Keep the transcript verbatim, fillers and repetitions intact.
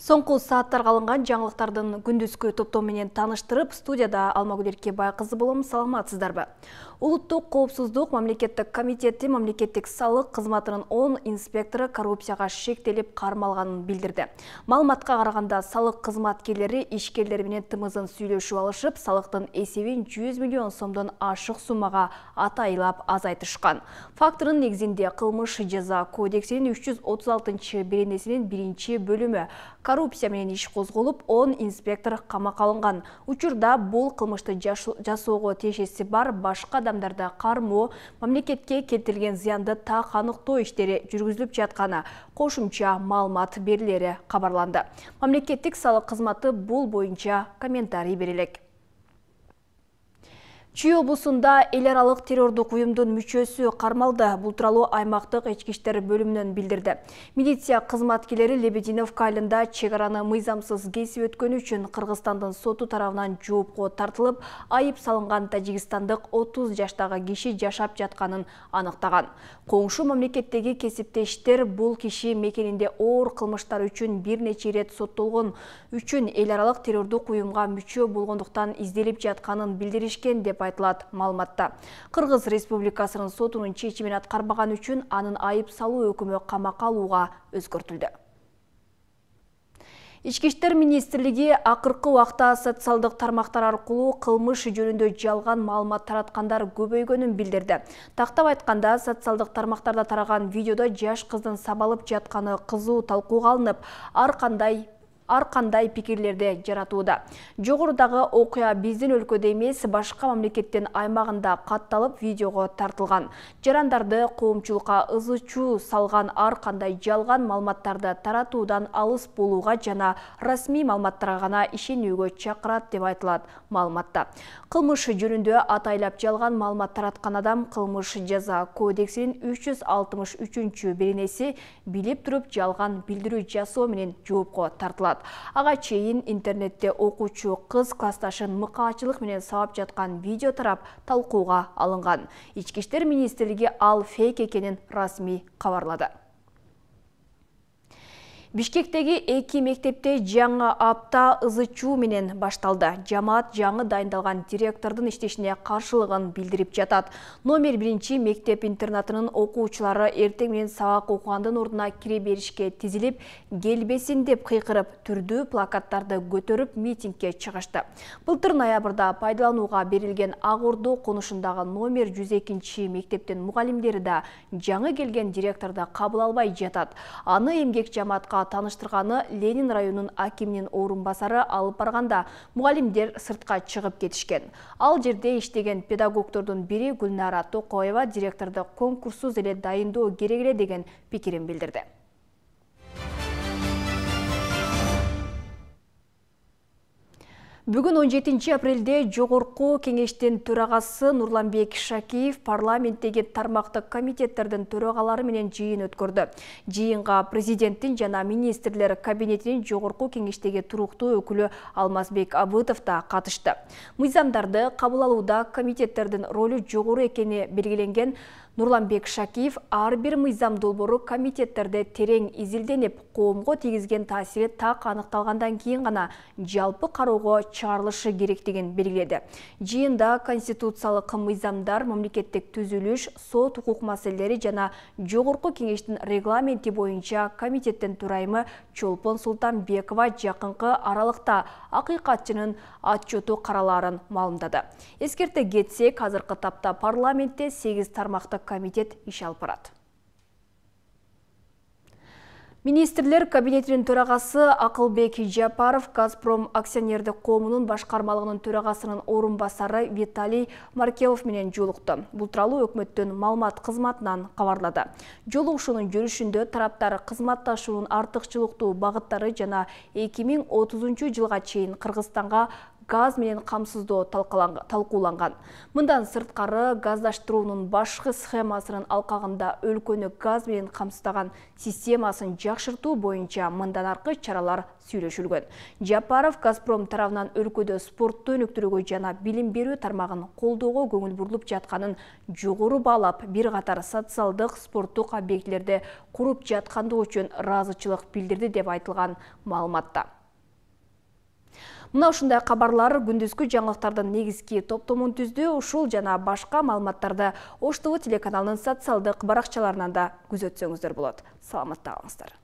Соңку сааттарга алынган жаңылыктардын күндүзгү топтому менен таныштырып, студияда Алмагүл Эркебай кызы болом. Саламатсыздарбы? Улуттук коопсуздук мамлекеттик комитети мамлекеттик салык кызматынын он инспектору коррупцияга шектелип кармалганын билдирди. Маалыматка караганда, салык кызматкерлери ишкерлер менен тымызын сүйлөшүп алышып, салыктын эсебин жүз миллион сомдон ашык суммага атайлап азайтышкан. Фактынын негизинде кылмыш жаза кодексинин үч жүз отуз алтынчы беренесинин биринчи бөлүмү коррупция менен иш козголуп, он инспектор камакка алынган. Учурда бул кылмышты жасоого тиешеси бар башка адамдарды кармоо, мамлекетке келтирилген зыянды так аныктоо иштери жүргүзүлүп жатканы кошумча маалымат берилери кабарланды. Мамлекеттик салык кызматы бул боюнча комментарий бере элек. Чүй облусунда эл аралык террордук уюмдун мүчөсү кармалды. Бул тууралуу аймактык ички иштер бөлүмүнөн билдирди. Милиция кызматкерлери Лебединовка айылында чек араны мыйзамсыз кесип өткөнү үчүн Кыргызстандын соту тарабынан жоопко тартылып, айып салынган тажикстандык отуз жаштагы киши жашап жатканын аныктаган. Коңшу мамлекеттеги кесиптештер бул киши мекенинде оор кылмыштар үчүн бир нече ирет соттолгон үчүн эл аралык террордук уюмга мүчө болгондуктан изделип жатканын билдиришкен деп айтылат маалыматта. Кыргыз Республикасынын сотунун чечимин аткарбаган үчүн анын айып салуу өкүмү камакка алууга өзгөртүлдү. Ички иштер министрлиги акыркы убакта социалдык тармактар аркылуу кылмыш жөнүндө жалган маалымат тараткандар көбөйгөнүн билдирди. Тактап айтканда, социалдык тармактарда тараган видеодо жаш кыздын сабалып жатканы кызуу талкууга алынып, ар кандай ар кандай пикирлерди жаратууда. Жогорудагы окуя биздин өлкөдө эмес, башка мамлекеттин аймагында катталып видеого тартылган. Жарандарды коомчулукка ызы-чуу салган ар кандай жалган маалыматтарды таратуудан алыс болууга жана расмий маалыматтарга гана ишенүүгө чакырат деп айтылат маалыматта. Кылмыш жөнүндө атайлап жалган маалымат тараткан адам кылмыш жаза кодексинин үч жүз алтымыш үчүнчү беренеси билип туруп жалган билдирүү жасоо менен жоопко тартылат. Ага чейин интернетте окуучу кыз классташын мыкаачылык менен сабап жаткан видео тарап талкууга алынган. Ички иштер министрлиги ал фейк экенин расмий кабарлады. Бишкектеги эки мектепте жаңы апта ызы-чуу менен башталды. Жамаат жаңы дайындалган директордун иштешине каршылыгын билдирип жатат. Номер биринчи мектеп-интернатынын окуучулары эртең менен сабак окугандын ордуна кире беришке тизилип, келбесин деп кыйкырып, түрдүү плакаттарды көтөрүп митингге чыгышты. Былтыр ноябрда пайдаланууга берилген Ак Ордо конушундагы номер жүз экинчи мектептин мугалимдери да жаңы келген директорду кабыл албай жатат. Аны эмгек жамаатка таныштырганы Ленин районунун акиминин орун басары алып барганда мугалимдер сыртка чыгып кетишкен. Ал жерде иштеген педагогдордун бири Гүлнара Токоева директорду конкурссуз эле дайындоо керек эле деген пикирин билдирди. Бүгүн он жетинчи апрелде Жогорку кеңештин төрагасы Нурланбек Шакиев парламенттеги тармактык комитеттердин төрагалары менен жыйын өткөрдү. Жыйынга президенттин жана министрлер кабинетинин Жогорку кеңештеги туруктуу өкүлү Алмазбек Абытов да катышты. Мыйзамдарды кабыл алууда комитеттердин ролу жогору экени белгиленген Нурланбек Шакиев ар бир мыйзам долбоору комитеттерде терең изилденип, коомго тийгизген таасири так аныкталгандан кийин гана жалпы кароого чыгарылышы керектигин белгиледи. Жыйында конституциялык мыйзамдар, мамлекеттик түзүлүш, сот укук маселелери жана Жогорку кеңештин регламенти боюнча комитеттин төрайымы Чолпон Султанбекова жакынкы аралыкта акыйкатчынын отчету каралаарын маалымдады. Эскерте кетсек, азыркы тапта парламентте сегиз тармактык комитет иш алып барат. Министрлер кабинетинин төрагасы Акылбек Жапаров Газпром акционердик коомунун башкармалыгынын төрагасынын орун басары Виталий Маркелов менен жолукту. Бул тууралуу өкмөттүн маалымат кызматынан кабарлады. Жолугушуунун жүрүшүндө тараптар кызматташуунун артыкчылыктуу багыттары жана эки миң отузунчу жылга чейин Кыргызстанга газ менен камсыздоо талкууланган. Мындан сырткары газдаштыруунун башкы схемасынын алкагында өлкөнү газ менен камсыздаган системасын жакшыртуу боюнча мындан аркы чаралар сүйлөшүлгөн. Жапаров Газпром тарабынан өлкөдө спортту өнүктүрүүгө жана билим берүү тармагын колдоого көңүл бурулуп жатканын жогору баалап, бир катар социалдык спорттук объектилерди куруп жаткандыгы үчүн ыраазычылык билдирди деп айтылган маалыматта. Мына ушундай кабарлар күндүзгү жаңылыктардын негизги топтомун түздү. Ушул жана башка маалыматтарды Ош ТВ телеканалынын социалдык баракчаларынан да күзөтсөңүздөр болот. Саламатта калыңыздар.